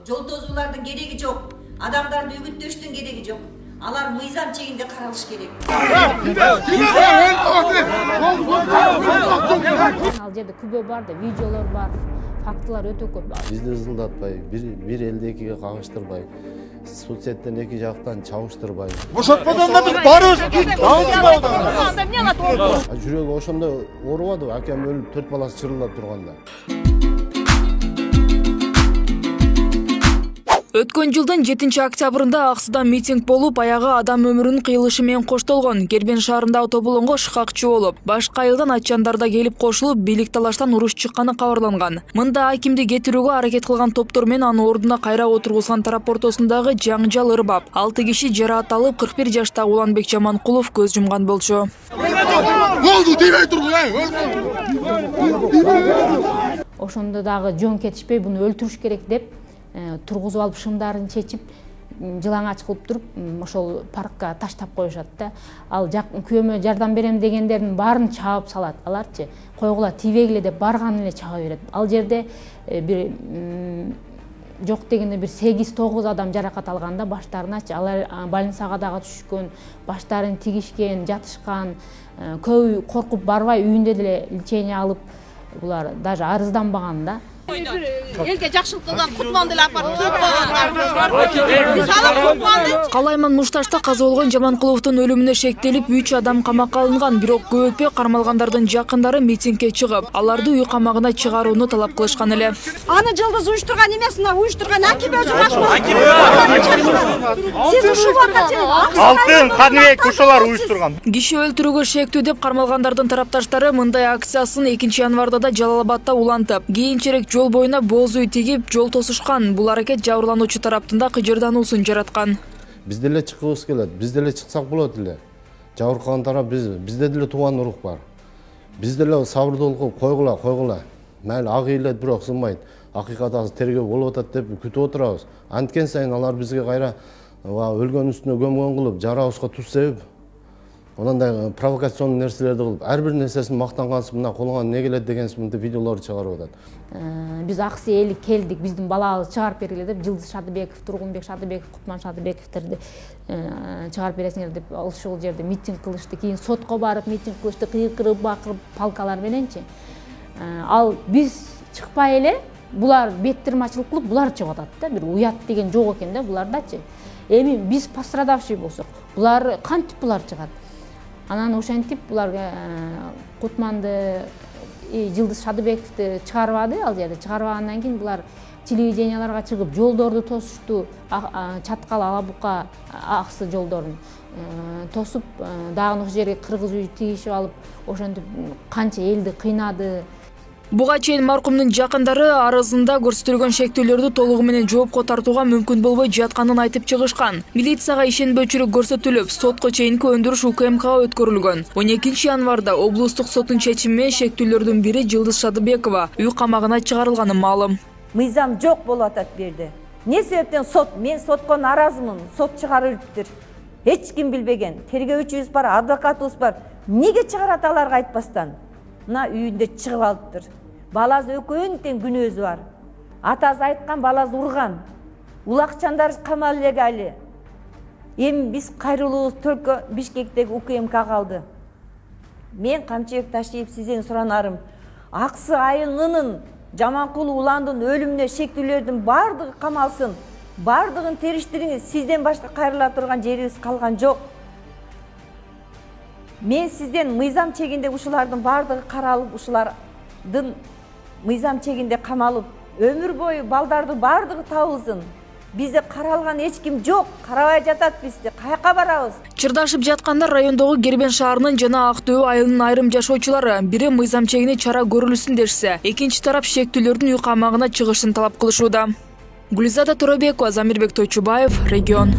жол тозуулардын кереги жок, адамдарды үгүттөштүн кереги жок. Алар мыйзам чегинде каралыш керек. Ал жерде күбө бар да, видеолор бар, фактылар өтө көп. Бизди ызылдатпай, бир элди экиге кагыштырбай, соцсеттен эки жактан чабыштырбай. Бошотпогондо биз барыбыз. Жүрөгү ошондо оорубады, акем өлүп 4 баласы чырылдап турганда. Өткөн жылдын 7-октябрында Аксыда митинг болуп, аягы адам өмүрүнүн кыйылышы менен коштолгон. Кербен шаарында автоболонго шыкакчы болуп, башка айылдан атчандар да келип кошулуп, бийлик талаштан уруш чыкканы кабарланган. Мында акимди кетирүүгө аракет кылган топтор менен анын ордуна кайра отургузган тарап ортосундагы жаңжал ырбап. 6 киши жараат алып, 41 жаштагы Уланбек Жаманкулов көз жумган болчу. Ошондо дагы жөн кетишпей буну өлтүрүш керек деп тургузуп алып шымдарын чечип, жылаңач кылып туруп, ошол паркка таштап коюшат да. Ал күйөөмө жардам берем дегендердин баарын чаап салат. Аларчы койгула тийбегиле деп барган эле чаба берет. Ал жерде бир жок дегенде бир 8-9 адам жаракат алган да, баштарыначы. Алар больницага дагы түшкөн, баштарын тигишкен, жатышкан, көбү коркуп барбай үйүндө деле лечение алып, булар даже арызданбаган да. Элге жакшылык кылган Кутманды эле апарып кийип койгон. Калайман Мушташта каза болгон Жаманкуловдун өлүмүнө шектелип 3 адам камакка алынган, бирок көп өтпөй кармалгандардын жакындары митингге чыгып, аларды үй камагына чыгарууну талап кылышкан эле. Аны жылдыз уюштурган эмес, мына уюштурган Аким өзү башкы. Сиз ушул убакытта Алтын Каныбек ошолор уюштурган. Киши өлтүрүүгө шектүү деп кармалгандардын тарапташтары мындай акциясын 2-январда да Жалал-Абадда улантып, кийинчерээк жол боюна боз үй тигип, жол тосушкан. Бул аракет жабырлануучу тараптын да кыжырдануусун жараткан. Биз деле чыккыбыз келет, биз деле чыксак болот эле. Жабыркаган тарап бизде деле тууган урук бар. Биз деле сабырдуулук койгула. Майли ак ыйлет, бирок сынбайт. Акыйкат азыр тергөө болуп атат деп күтүп отурабыз. Анткен сайын алар бизге кайра өлгөн үстүнө көмгөн кылып, жарабызга туз себип, ондай провокационный нерселерди кылып, ар бир нерсесин мактангансып, мына колуңа эмне келет деген сынды видеолорду чыгарып атат. Биз Аксы эли келдик, биздин балабыз чыгарып бергиле деп, Жылдыз Шадыбеков, Тургунбек Шадыбеков, Кутман Шадыбековтерди чыгарып бересиңер деп ушул жерде митинг кылышты. Кийин сотко барып митинг кылышты, кыйкырып, бакырып, палкалар мененчи. Ал биз чыкпай эле, булар беттирмачылык кылып, булар чыгып атат да. Бир уят деген жок экен да булардачы. Эми биз пострадавший болсок, булар кантип булар чыгат? Анан ошентип буларга Кутманды, Жылдыз Шадыбековду чыгарбады, ал жерде чыгарбагандан кийин булар телевиденияларга чыгып жолдорду тосушту, Чаткал, Алабука, Аксы жолдорун тосуп, дагы ошол жерге кыргыз үй тигишип алып, ошентип канча элди кыйнады. Буга чейин маркумдун жакындары арызында көрсөтүлгөн шектүүлөрдү толугу менен жоопко тартууга мүмкүн болбой жатканын айтып чыгышкан. Милицияга ишенбөөчүлүк көрсөтүлүп, сотко чейинки өндүрүш УКМКга өткөрүлгөн. 12-январда облустук соттун чечими менен шектүүлөрдүн бири Жылдыз Шадыбекова үй камагына чыгарылганы маалым. Мыйзам жок болуп атат бу жерде. Эмне себептен мен сотко наразымын, сот чыгарыптыр. Эч ким билбеген. Тергөөчүбүз бар, адвокатыбыз бар. Эмнеге чыгарат аларга айтпастан? Мына үйүндө чыгып алыптыр. Баласы экөөнүн тең күнөөсү бар. Атасы айткан, баласы урган. Улакчандар камалгалы. Эми биз кайрылуубуз только Бишкектеги УКМКга калды. Мен Камчыбек Ташиев сизден суранарым. Аксы айылынын Жаманкулов Уландын өлүмүнө шектүүлөрдүн бардыгы камалсын. Бардыгын териштириңиз. Сизден башка кайрыла турган жерибиз калган жок. Мен сизден мыйзам чегинде ушулардын бардыгы каралып, ушулардын мыйзам чегинде камалып, өмүр бою балдарды бардыгы табылсын. Бизде каралган эч ким жок, карабай жатат бизде. Каяка барабыз? Чырдашып жаткандар райондогу Кербен шаарынын жана Ак Дөбө айылынын айрым жашоочулары. Бири мыйзам чегине чара көрүлсүн дешсе, экинчи тарап шектүүлөрдүн үй камагына чыгышын талап кылышууда. Гүлзада Торобекова, Замирбек Тойчубаев, Регион.